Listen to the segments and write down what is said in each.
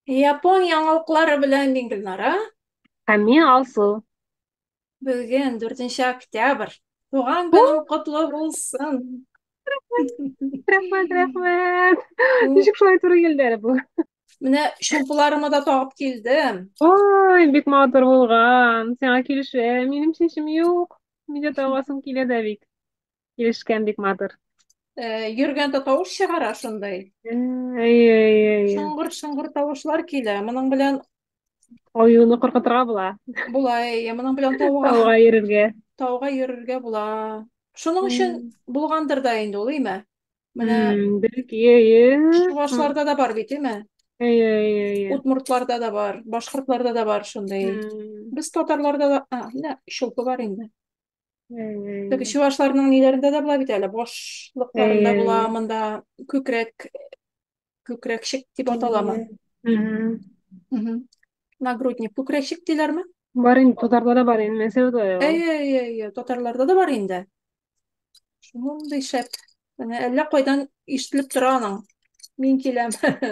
Япон яңалыклары белән мин Гөлнара. Һәм мин Алсу. Бүген 4 октябрь. Туган көнең котлы булсын. Рәхмәт, рәхмәт. Ничек шулай туры килде әле бу? Менә чулпыларымы да тагып килдем. Ой, бик матур булган. Сиңа килешә. Минем чәчем юк. Мин дә тагасым килә дә бик. Килешкән бик матур. Йөргәндә тавыш чыгара шундый. Әй, әй, әй. Шыңгыр-шыңгыр тавышлар килә. Моның белән Аюны куркытырга була. Була, әйе, моның белән тауга Тауга йөрергә. Тауга йөрергә була. Шуның өчен булгандыр да инде ул, әйме? Менә Бәлки, әйе. Чувашларда да бар бит, әйме? Әйе, әйе, әйе. Удмуртларда да бар, башкортларда да бар шундый. Без татарларда да, менә чулпы бар инде. Теге чувашларның ниләрендә дә була бит әле, башлыкларында була, монда күкрәк, күкрәкчек дип аталамы? Нагрудник күкрәкчек диләрме? Бар инде, татарда да бар инде, Мәскәүдә дә. Әйе, әйе, әйе, татарларда да бар инде. Шундый шәп. Менә әллә кайдан ишетелеп тора аның. Мин киләм,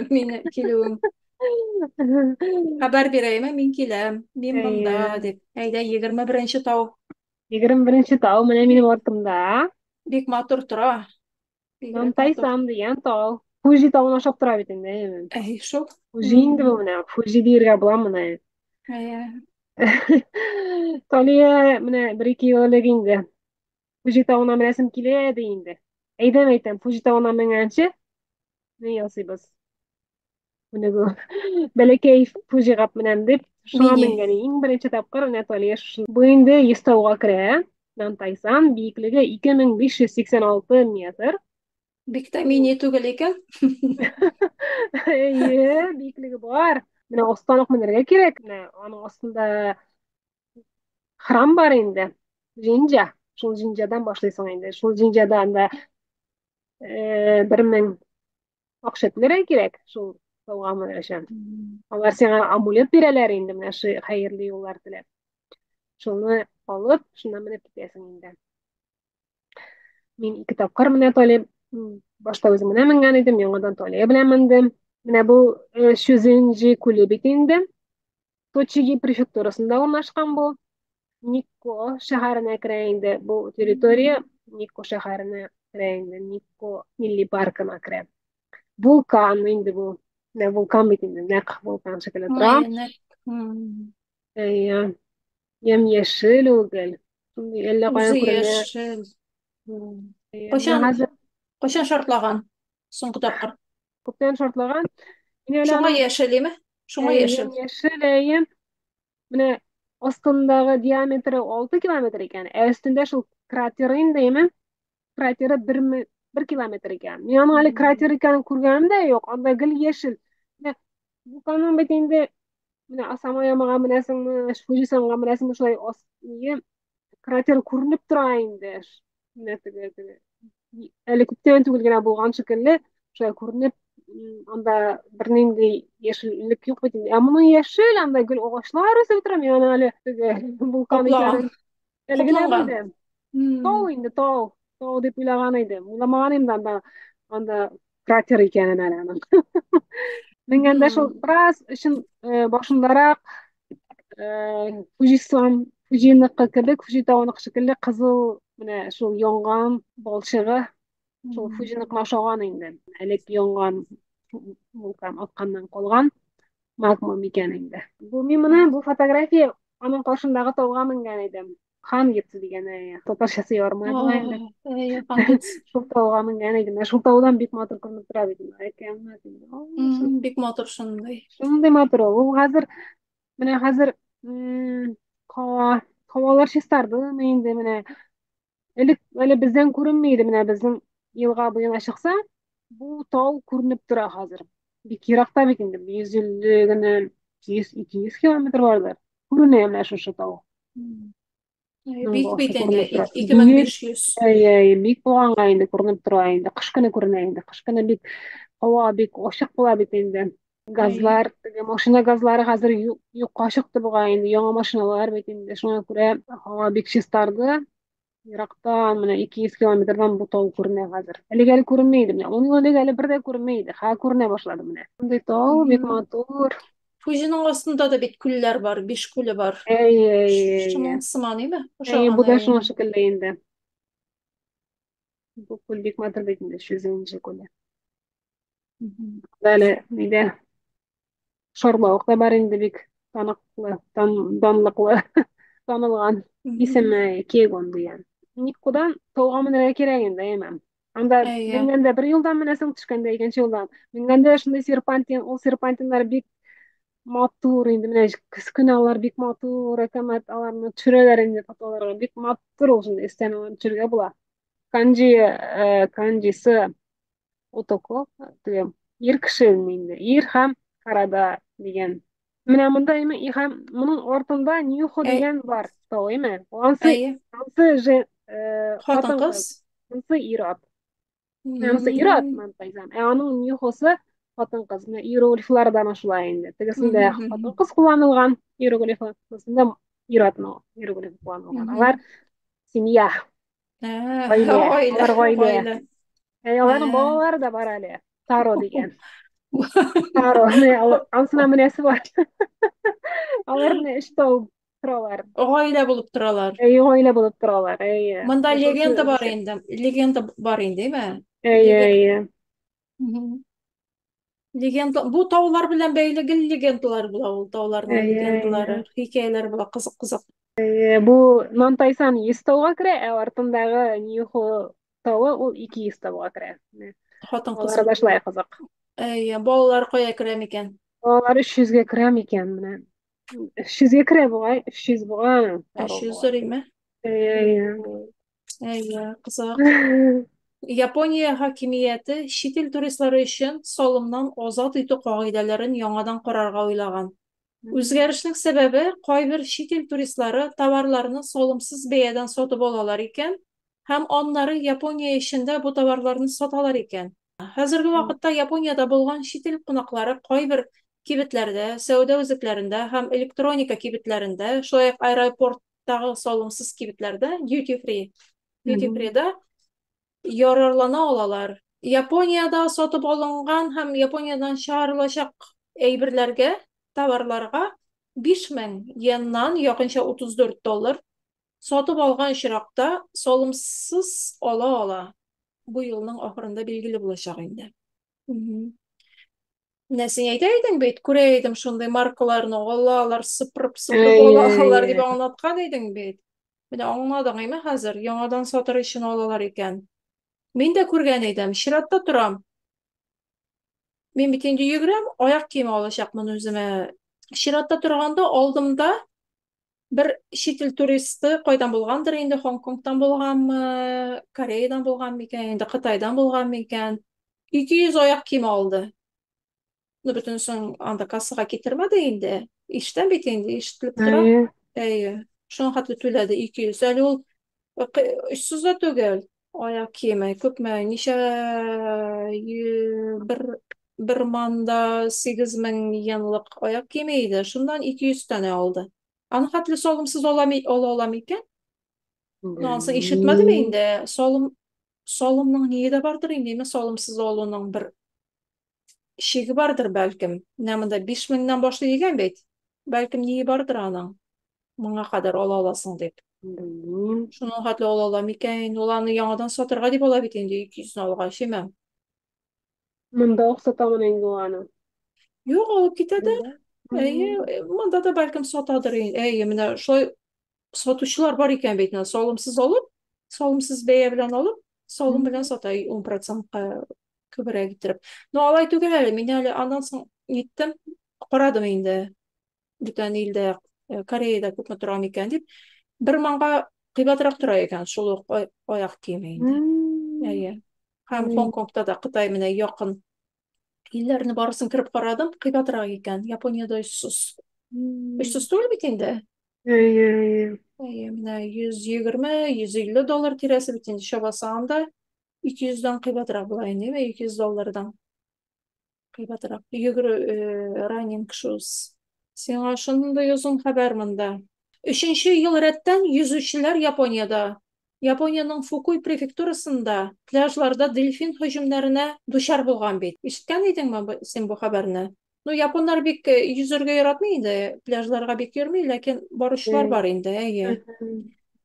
мине килүем. Хәбәр бирәйме, мин киләм, мин монда дип. Әйдә, 21 тау. 21 тау менә минем артымда. Бик матур тора. Нантайсан дигән тау. Фуҗи тавына ошап тора бит инде, әйеме? Әй, шул. Фуҗи инде бу менә, Фуҗи диергә була моны. Әйе. Талия менә бер-ике ел элек инде Фуҗи тавына менәсем килә ди инде. Әйдәм әйтәм, Фуҗи тавына менгәнче ни ясыйбыз? Менә бу бәләкәй Фуҗига менәм дип, шуңа менгән иң беренче тапкыр менә Талия шушы. Бу инде 100 тауга керә. Нантайсан биеклеге 2586 метр. Бик тә мини түгел икән. Әйе, биеклеге бар. Менә астан ук менәргә кирәк. Менә аның астында храм бар инде. Җинҗа. Шул җинҗадан башлыйсың инде. Шул җинҗада анда 1000 акча түләргә кирәк. Шул тауга менәр өчен. Алар сиңа амулет бирәләр инде, менә шу хәерле юллар теләп. Шуны алып, шуннан менеп китәсең инде. Мин ике тапкыр менә Талия, башта үзем генә менгән идем, яңадан Талия белән мендем. Менә бу Чузенджи күле бит инде. Точиги префектурасында урнашкан бу. Никко шәһәренә керә инде бу территория, Никко шәһәренә керә инде, Никко милли паркына керә. Вулкан инде бу. Менә вулкан бит инде, нәкъ вулкан шикелле тора. Әйе. Ямь-яшел ул гел. Шундый әллә каян Үзе күренә. яшел. Кайчан, кайчан шартлаган соңгы тапкыр? Күптән шартлаган. Шуңа яшел, име? Шуңа яшел. Яшел, әйе. Менә астындагы диаметры 6 километр икән, ә өстендә шул кратеры инде, әйеме? Кратеры 1 километр икән. Мин аның әле кратер икәнен күргәнем дә юк, анда гел яшел. Менә вулканның бит инде менә Асамаямага менәсеңме, Фуҗисанга менәсеңме, шулай ас кратер күренеп тора инде. Менә теге теге әле күптән түгел генә булган шикелле, шулай күренеп, анда бернинди яшеллек юк бит инде. Ә моның яшел, анда гел агачлар үсеп тора. Мин аны әле теге вулкан икәнен әле генә белдем. Тау инде, тау. Тау дип уйлаган идем. Уйламаган идем анда кратер икәнен әле аның. Менгәндә шул бераз өчен башындарак Фуҗисан, Фуҗиныкы кебек, Фуҗи тавыныкы шикелле кызыл менә шул янган балчыгы шул Фуҗиныкына ошаган инде. Элек янган вулкан атканнан калган магма микән инде. Бу мин моны бу фотография аның каршындагы тауга менгән идем. Хангетс дигән татарчасы ярмай була инде. Шул тауга менгән идем. Шул таудан бик матур күренеп тора бит. Бик матур шундый. Шундый матур ул. Ул хәзер менә хәзер һава һавалар чистарды инде менә. Элек әле бездән күренми иде менә безнең елга буена чыкса, бу тау күренеп тора хәзер. Бик еракта бит инде, 150 генә, 100-200 километр бардыр. Күренә менә шушы тау. Бик бит инде, 2500. Әйе, бик булганга инде күренеп тора инде. Кыш көне күренә инде. Кыш көне бик һава бик ачык була бит инде. Газлар, теге машина газлары хәзер юкка чыкты бугай инде. Яңа машиналар бит инде. Шуңа күрә һава бик чистарды. Ерактан менә 200 километрдан бу тау күренә хәзер. Элек әле күренми иде менә. 10 ел элек әле бер дә күренми иде. Хәзер күренә башлады менә. Шундый тау бик матур. Фузиның астында да бит күлләр бар, биш күле бар. Әйе, әйе, әйе. Шуның сыман име? Әйе, бу да шуның шикелле инде. Бу күл бик матур бит инде, Шүзенҗе күле. Әле нидә шарлавык та бар инде бик таныклы, данлыклы, танылган исеме Кегон дигән. Никкудан тауга менәргә кирәк инде, әйме. Анда менгәндә бер юлдан менәсең, төшкәндә икенче юлдан. Менгәндә шундый серпантин, ул серпантиннар бик матур инде. Менә көз көне алар бик матур, әкәмәт аларны төшерәләр инде фотоларга. Бик матур ул шундый өстән аларны төшерергә була. Канджи, канджисы Отоко, теге ир кеше инде. Ир һәм Карада дигән. Менә монда име и һәм моның артында Нюхо дигән бар тау, име? Ансы, ансы же хатын-кыз, ансы ир-ат. Ансы ир-ат, мантайзам. Ә аның Нюхосы хатын-кыз. Менә иероглифлар да шулай инде. Тегесендә хатын-кыз кулланылган иероглифы, монысында ир-атның иероглифы кулланылган. Алар семья. Гаилә. Алар гаилә. Ә аларның балалары да бар әле. Таро дигән. Таро. Ансына менәсе бар. Алар менә өч тау торалар. Гаилә булып торалар. Әйе, гаилә булып торалар. Әйе. Монда легенда бар инде. Легенда бар инде, әйме? Әйе, әйе. Легенда, бу таулар белән бәйле гел легендалар була ул тауларның легендалары, хикәяләр була, кызык-кызык. Бу Нантайсан 100 тауга керә, ә артындагы Ньюхо тавы ул 200 тауга керә. Хатын-кыз. Алар да шулай кызык. Әйе, балалар кая керә микән? Балалар 300гә керә микән менә? 300гә керә бугай, 300 бугай. 300 дөрме? Әйе. Әйе, кызык. Япония хакимияте чит ил туристлары өчен салымнан азат итү кагыйдәләрен яңадан карарга уйлаган. Үзгәрешнең сәбәбе, кайбер чит ил туристлары товарларны салымсыз бәядән сатып алалар икән һәм аннары Япония эчендә бу товарларны саталар икән. Хәзерге вакытта Япониядә булган чит ил кунаклары кайбер кибетләрдә, сәүдә үзәкләрендә һәм электроника кибетләрендә, шулай ук аэропорттагы салымсыз кибетләрдә, duty free, duty free-да ярарлана алалар. Япониядә сатып алынган һәм Япониядән чыгарылачак әйберләргә, товарларга 5000 йеннан, якынча 34 доллар, сатып алган очракта салымсыз ала ала. Бу елның ахырында билгеле булачак инде. Менә син әйтә идең бит, күрә идем шундый маркаларны, алалар, сыпырып-сыпырып алалар дип аңлаткан идең бит. Менә аңладың, әйме хәзер, яңадан сатыр өчен алалар икән. Мин дә күргән идем, чиратта торам. Мин бит инде йөгерәм, аяк киеме алачакмын үземә. Чиратта торганда алдымда бер чит ил туристы кайдан булгандыр инде, Хонконгтан булганмы, Кореядан булган микән, инде Кытайдан булган микән. 200 аяк киеме алды. Ну, бөтенесен анда кассага китермәде инде. Ишетәм бит инде, ишетелеп тора. Әйе. Шуның хәтле түләде 200. Әле ул очсыз да түгел. Аяк киеме күпме? Ничә бер манда 8000 йенлык аяк киеме иде. Шуннан 200 тәнә алды. Аны хәтле салымсыз ала ала микән? Ну, ансы ишетмәдем инде. Салым салымның ние дә бардыр инде, салымсыз алуның бер шиге бардыр бәлкем. Менә монда 5000-нән башлый дигән бит. Бәлкем ние бардыр аның. Моңа кадәр ала аласың дип. Белмим. Шуның хәтле ала ала микән? Ул аны яңадан сатырга дип ала бит инде 200-не алгач, әйме? Монда ук сатамын инде ул аны. Юк, алып китәдер. Әйе, монда да бәлкем сатадыр. Әйе, менә шулай сатучылар бар икән бит, салымсыз алып, салымсыз бәя белән алып, салым белән сата 10%-ка күбрәк иттереп. Но алай түгел әле, мин әле аннан соң ниттем, карадым инде. Бүтән илдә, Кореяда күпме тора микән дип, бер маңга кыйбатрак тора икән шул ук аяк киеме инде. Әйе. Һәм Хонконгта да Кытай менә якын илләрне барысын кереп карадым, кыйбатрак икән. Япониядә очсыз. Очсыз түгел бит инде. Әйе, әйе. Әйе, менә 120, 150 доллар тирәсе бит инде чабасы анда 200-дән кыйбатрак була инде, 200 доллардан кыйбатрак. Йөгерү running shoes. Сиңа шундый озын хәбәр монда. Өченче ел рәттән йөзүчеләр Япониядә Япониянең Фукуй префектурасында пляжларда дельфин һөҗүмнәренә дучар булган бит. Ишеткән идеңме син бу хәбәрне? Ну, японнар бик йөзәргә яратмый инде, пляжларга бик йөрми, ләкин баручылар бар инде, әйе.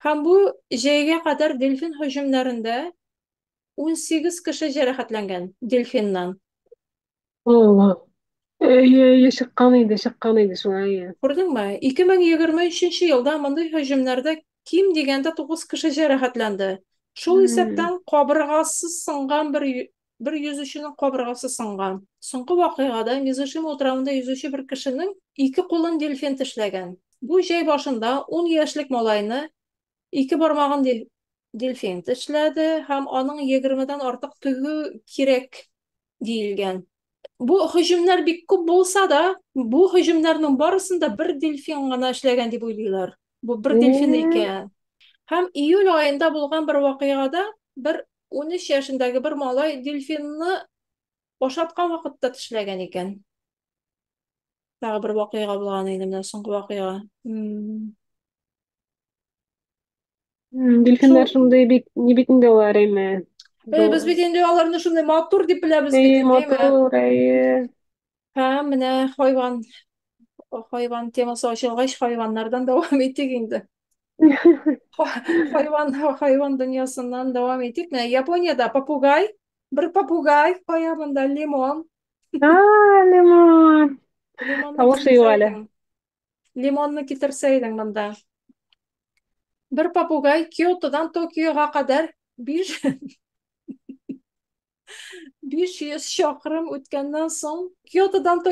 Һәм бу җәйгә кадәр дельфин һөҗүмнәрендә 18 кеше җәрәхәтләнгән дельфиннан. Алла. Әйе, әйе, чыккан иде, чыккан иде шулай, әйе. Күрдеңме? 2023 елда мондый һөҗүмнәрдә ким дигәндә 9 кеше җәрәхәтләнде. Шул исәптән кабыргасы сынган бер йөзүченең кабыргасы сынган. Соңгы вакыйгада Мизушима утравында йөзүче бер кешенең ике кулын дельфин тешләгән. Бу җәй башында 10 яшьлек малайны ике бармагын дельфин тешләде һәм аның 20-дән артык тегү кирәк диелгән. Бу һөҗүмнәр бик күп булса да, бу һөҗүмнәрнең барысын да бер дельфин гына эшләгән дип уйлыйлар. Бу бер дельфин икән. Һәм июль аенда булган бер вакыйгада бер 13 яшендәге бер малай дельфинны ашаткан вакытта тешләгән икән. Тагы бер вакыйга булган инде менә соңгы вакыйга. Дельфиннар шундый бик, ни бит инде алар, әйме. Без бит инде аларны шундый матур дип беләбез бит инде, матур, әйе. Һәм менә хайван темасы ачылгач, хайваннардан дәвам итик инде. Хайван дөньясыннан дәвам итик. Менә Япониядә попугай, бер попугай, кая монда лимон. А, лимон. Лимонны Тавышы юк әле. Лимонны китерсәйдең монда. Бер попугай Киотодан Токиога кадәр 500 чакрым үткәннән соң Киотодан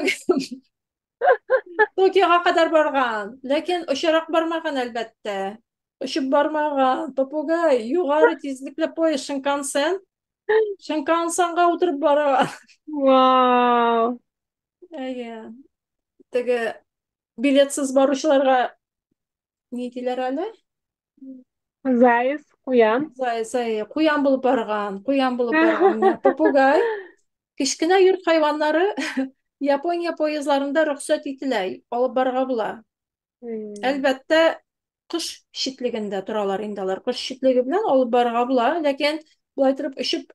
Токиога кадәр барган. Ләкин очарак бармаган, әлбәттә. Очып бармаган. Попугай югары тизлекле поезд Шинкансен. Шинкансенга утырып барган. Вау! Әйе. Теге билетсыз баручыларга ни диләр әле? Заяц, куян. Заяц, әйе. Куян булып барган, куян булып барган. Менә попугай. Кечкенә йорт хайваннары Япония поездларында рөхсәт ителә, алып барырга була. Әлбәттә, кош читлегендә торалар инде алар. Кош читлеге белән алып барырга була, ләкин болай торып очып,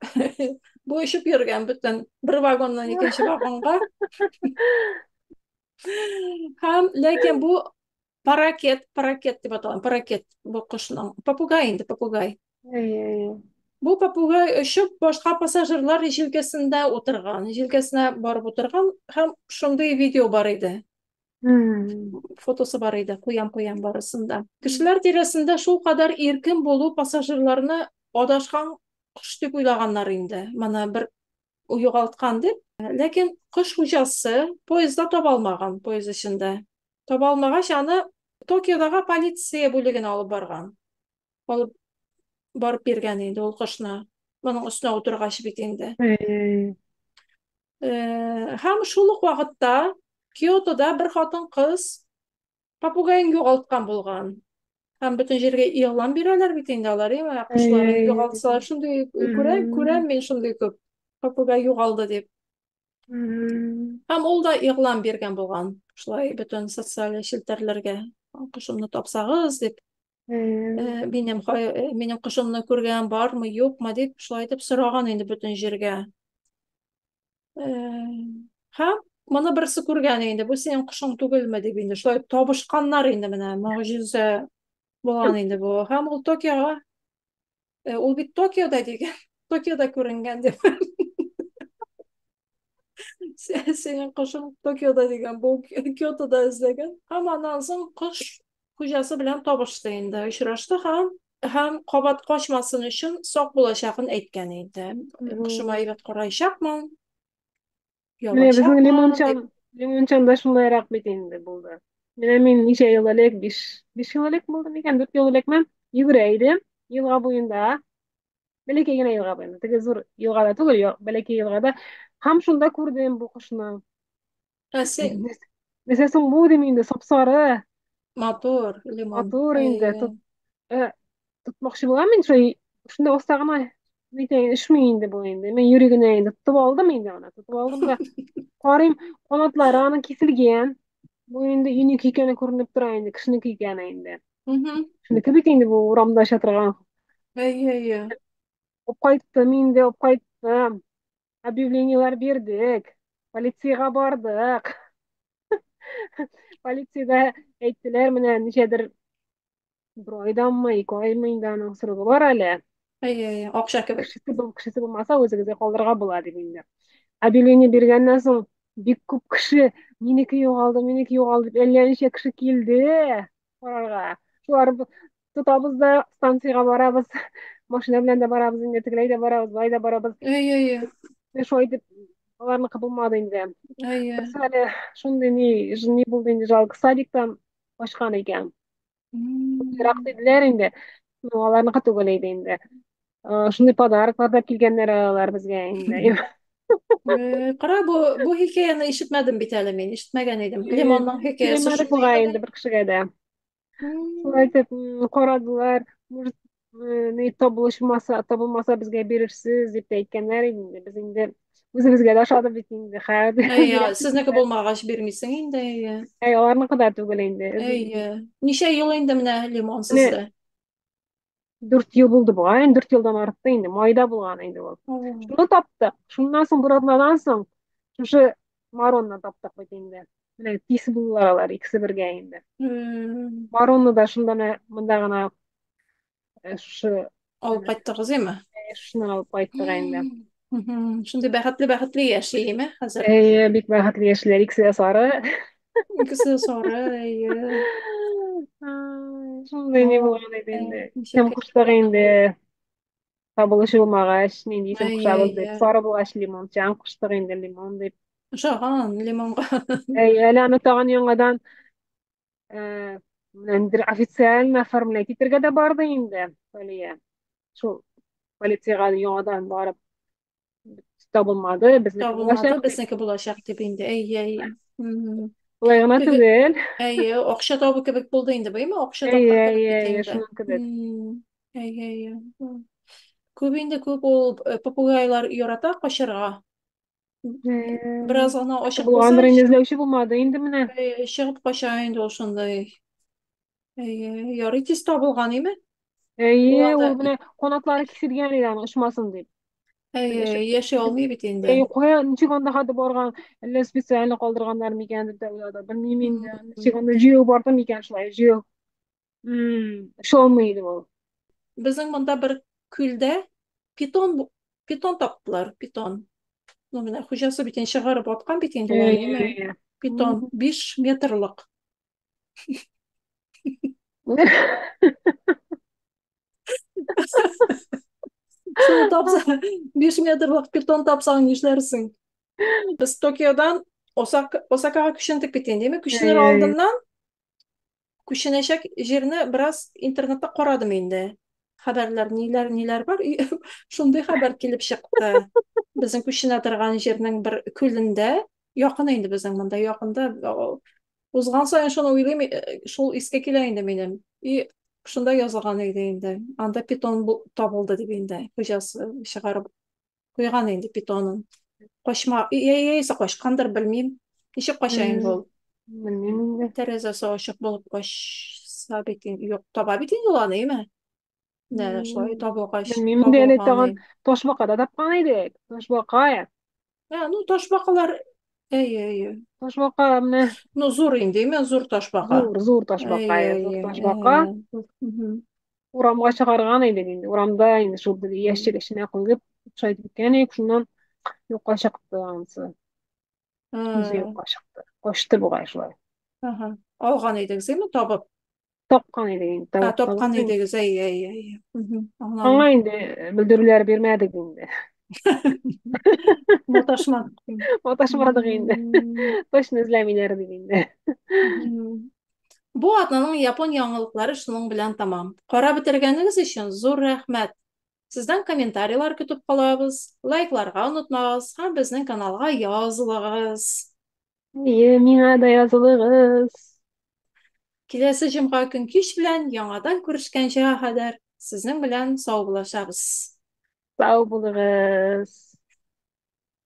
бу очып йөргән бөтен бер вагоннан икенче вагонга. Һәм ләкин бу паракет, паракет дип аталган, паракет бу кошның. Попугай инде, попугай. Бу попугай очып башка пассажирлар җилкәсендә утырган, җилкәсенә барып утырган һәм шундый видео бар иде. Фотосы бар иде, куям-куям барысында. Кешеләр тирәсендә шул кадәр иркен булу пассажирларны адашкан кош дип уйлаганнар инде. Моны бер югалткан дип. Ләкин кош хуҗасы поездда таба алмаган, поезд эчендә. Таба алмагач, аны Токиодагы полиция бүлегенә алып барган. Алып барып биргән инде ул кошны. Моның өстенә утыргач бит инде. Һәм шул ук вакытта Киотода бер хатын-кыз попугаен югалткан булган. Һәм бөтен җиргә игълан бирәләр бит инде алар, әйме, кошларын югалтсалар, шундый күрә, күрәм мин шундый күп попугай югалды дип. Һәм ул да игълан биргән булган. Шулай бөтен социаль челтәрләргә кошымны тапсагыз дип. Минем кошымны күргән бармы, юкмы дип, шулай итеп сораган инде бөтен җиргә. Һәм моны берсе күргән инде, бу синең кошың түгелме дип инде, шулай табышканнар инде менә, могҗиза булган инде бу. Һәм ул Токиога, ул бит Токиода дигән, Токиода күренгән дип. Синең кошың Токиода дигән, бу Киотода эзләгән. Һәм аннан соң кош хуҗасы белән табышты инде, очрашты һәм кабат качмасын өчен сак булачагын әйткән инде. Кошыма әйбәт караячакмын. Менә безнең лимончан, лимончан да шундыйрак бит инде булды. Менә мин ничә ел элек, 5 ел элек булды микән, 4 ел элекме, йөгерә идем елга буенда. Бәләкәй генә елга буенда, теге зур елгада түгел, бәләкәй елгада. Һәм шунда күрдем бу кошны. Ә син Нәрсә соң бу дим инде, сап-сары. Матур, лимон. Матур инде. Тотмакчы булам мин шулай, шунда оста гына нитә, өшми инде бу инде. Мин юри генә инде тотып алдым инде аны. Тотып алдым да карыйм, канатлары аның киселгән. Бу инде өйнеке икәне күренеп тора инде, кешенеке икәне инде. Кешенеке бит инде бу урамда оча торган Әйе, әйе. Алып кайттым инде, алып кайттым. Объявлениеләр бирдек. Полициягә бардык. Полициядә әйттеләр, менә ничәдер бер айданмы, 2 аймы инде аның срогы бар әле. Әйе, әйе, акча кебек. Кешесе, кешесе булмаса, үзегезгә калдырырга була дип инде. Объявление биргәннән соң бик күп кеше минеке югалды, минеке югалды дип әллә ничә кеше килде карарга. Шулар тотабыз да станциягә барабыз. Машина белән дә барабыз инде, тегеләй дә барабыз, былай да барабыз. Әйе, әйе. Шулай итеп аларныкы булмады инде. Әйе. Берсе әле шундый ни булды инде, жалко, садиктан качкан икән. Ерак диделәр инде. Ну, аларныкы түгел иде инде. Шундый подароклар да килгәннәр алар безгә инде. Кара, бу хикәяне ишетмәдем бит әле мин, ишетмәгән идем. Лимонның хикәясе шундый бугай инде бер кешегә дә. Шулай итеп карадылар, может, ни табылышмаса, табылмаса безгә бирерсез дип тә әйткәннәр инде. Без инде үзебезгә дә ошады бит инде. Хәзер. Әйе, сезнеке булмагач бирмисең инде, әйе. Әй, аларныкы да түгел инде. Әйе. Ничә ел инде менә лимон сездә? 4 ел булды бугай, инде 4 елдан артты инде, майда булган инде ул. Шуны таптык. Шуннан соң бер атнадан соң шушы Маронны таптык бит инде. Менә тиз булдылар алар икесе бергә инде. Маронны да шунда менә монда гына шушы алып кайттыгыз име? Шуны алып кайттык инде. Шундый бәхетле-бәхетле яши име хәзер? Әйе, бик бәхетле яшиләр, икесе дә сары. Икесе дә сары, әйе. Шундый ни булган иде инде. Исем куштык инде. Табылышы булмагач, нинди исем кушабыз дип. Сары булгач лимончан куштык инде, лимон дип. Ошаган лимонга. Әйе, әле аны тагын яңадан менә официально оформлять итәргә дә барды инде Алия. Шул полициягә яңадан барып табылмады, безнеке Табылмады, безнеке булачак дип инде. Әйе, әйе. Болай гына түгел. Әйе, акча табу кебек булды инде, бу, Акча тапкан кебек бит инде. Шуның кебек. Әйе, әйе. Күп инде, күп ул попугайлар ярата качарга. Бераз гына ачык булса, булгандыр инде, эзләүче булмады инде менә. Чыгып кача инде ул шундый. Әйе, ярый тиз табылган име? Әйе, ул менә канатлары киселгән иде аны очмасын дип. Әйе, яши алмый бит инде. Әйе, кая, ничек анда хәтле барган, әллә специально калдырганнар микән дип тә уйладым. Белмим инде. Ничек анда җыю барды микән шулай, җыю. Оча алмый иде ул. Безнең монда бер күлдә питон таптылар, питон. Ну, менә хуҗасы бит инде чыгарып аткан бит инде ул аны, Питон 5 метрлык. Шуны тапсаң, 5 метрлык питон тапсаң, нишләрсең? Без Токиодан Осакага күчендек бит инде, Күченер алдыннан күченәчәк җирне бераз интернетта карадым инде. Хәбәрләр ниләр, ниләр бар. Шундый хәбәр килеп чыкты. Безнең күченә торган җирнең бер күлендә, якын инде безнең монда, якында. Узган саен шуны уйлыйм, шул искә килә инде минем. И шунда язылган иде инде. Анда питон табылды дип инде. Хуҗасы чыгарып куйган инде питонын. Качма, яисә качкандыр, белмим. Ничек кача инде ул? Белмим инде. Тәрәзәсе ачык булып качса бит инде, юк, таба бит инде ул аны, әйме? Менә шулай табылгач, Белмим инде, әле тагын ташбака да тапкан идек. Ташбака. Ә, ну ташбакалар, әйе, әйе. Ташбака менә. Ну зур инде, әйме, зур ташбака. Зур, зур ташбака, зур ташбака. Урамга чыгарган идек инде. Урамда инде шул бер ящик эченә куеп, шулай итеп киткән идек, шуннан юкка чыкты анысы. Үзе юкка чыкты. Качты бугай шулай. Ага. Алган идегез, әйме, табып? Тапкан идек инде. Ә, тапкан идегез, әйе, әйе, әйе. Аңа инде белдерүләр бирмәдек инде. Маташмадык. Маташмадык инде. Точно эзләмиләр дип инде. Бу атнаның япон яңалыклары шуның белән тамам. Карап бетергәнегез өчен зур рәхмәт. Сездән комментарийлар көтеп калабыз. Лайкларга онытмагыз һәм безнең каналга язылыгыз. Әйе, миңа да язылыгыз. Киләсе җомга көн кич белән яңадан күрешкәнчә кадәр сезнең белән саубуллашабыз. Сау булыгыз.